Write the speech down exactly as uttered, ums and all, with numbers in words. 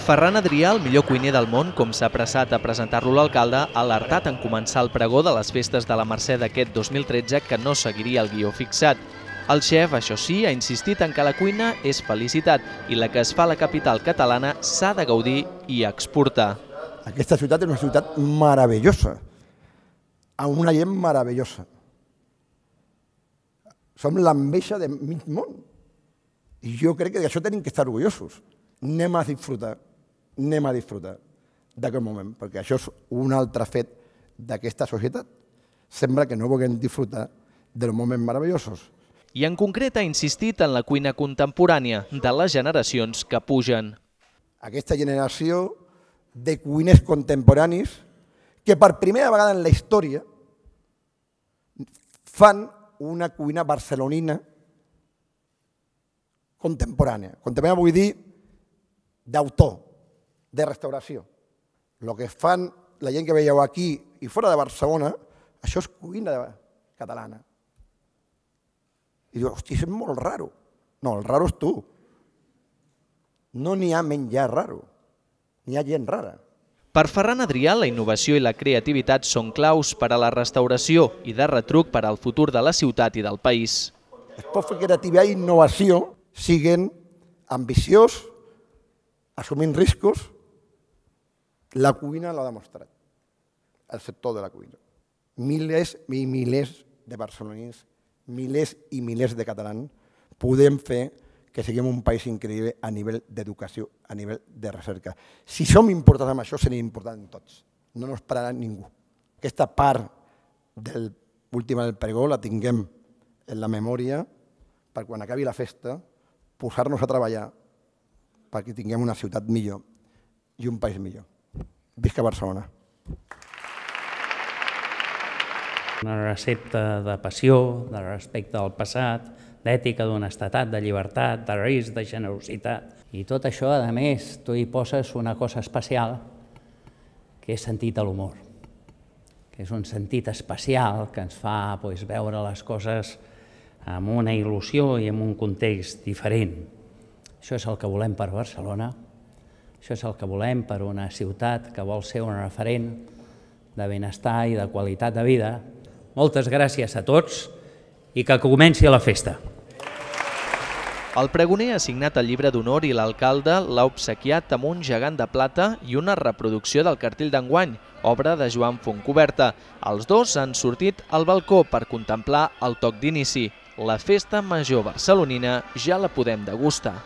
Ferran Adrià, el millor cuiner del món, com s'ha apressat a presentar-lo l'alcalde, ha alertat en començar el pregó de les festes de la Mercè d'aquest dos mil tretze que no seguiria el guió fixat. El xef, això sí, ha insistit en que la cuina és felicitat i la que es fa a la capital catalana s'ha de gaudir i exportar. Aquesta ciutat és una ciutat meravellosa, amb una gent meravellosa. Som l'enveja de mig món. I jo crec que d'això tenim que estar orgullosos. Anem a disfrutar, anem a disfrutar d'aquest moment, perquè això és un altre fet d'aquesta societat. Sembla que no vulguem disfrutar dels moments meravellosos. I en concret ha insistit en la cuina contemporània de les generacions que pugen. Aquesta generació de cuiners contemporanis que per primera vegada en la història fan una cuina barcelonina contemporània. Contemporània vull dir d'autor, de restauració. El que fan la gent que veieu aquí i fora de Barcelona, això és cuina catalana. I diu, hosti, és molt raro. No, el raro és tu. No n'hi ha menjar raro, n'hi ha gent rara. Per Ferran Adrià, la innovació i la creativitat són claus per a la restauració i de retruc per al futur de la ciutat i del país. Es pot fer creativitat i innovació siguin ambiciós, assumint riscos. La cuina l'ha demostrat, el sector de la cuina. Milers i milers de barcelonins, milers i milers de catalans podem fer que siguem un país increïble a nivell d'educació, a nivell de recerca. Si som importants en això, serem importants tots. No ens pararà ningú. Aquesta part de l'última del pregó la tinguem en la memòria per quan acabi la festa posar-nos a treballar perquè tinguem una ciutat millor i un país millor. Visca Barcelona! Una recepta de passió, de respecte al passat, d'ètica, d'honestedat, de llibertat, de risc, de generositat. I tot això, a més, tu hi poses una cosa especial, que és sentit a l'humor, que és un sentit especial que ens fa doncs, veure les coses amb una il·lusió i en un context diferent. Això és el que volem per Barcelona, això és el que volem per una ciutat que vol ser un referent de benestar i de qualitat de vida. Moltes gràcies a tots i que comenci la festa. El pregoner ha signat el llibre d'honor i l'alcalde l'ha obsequiat amb un gegant de plata i una reproducció del cartell d'enguany, obra de Joan Fontcoberta. Els dos han sortit al balcó per contemplar el toc d'inici. La festa major barcelonina ja la podem degustar.